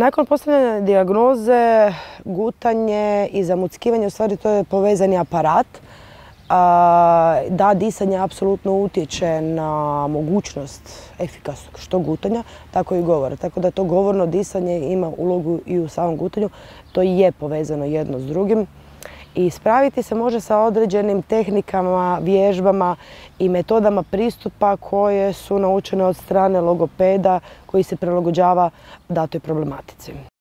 Nakon postavljanja dijagnoze, gutanje i zamuckivanje, u stvari to je povezani aparat. Da, disanje apsolutno utječe na mogućnost efikasnog što gutanja, tako i govora. Tako da to govorno disanje ima ulogu i u samom gutanju. To je povezano jedno s drugim. I spraviti se može sa određenim tehnikama, vježbama i metodama pristupa koje su naučene od strane logopeda koji se prilagođava datoj problematici.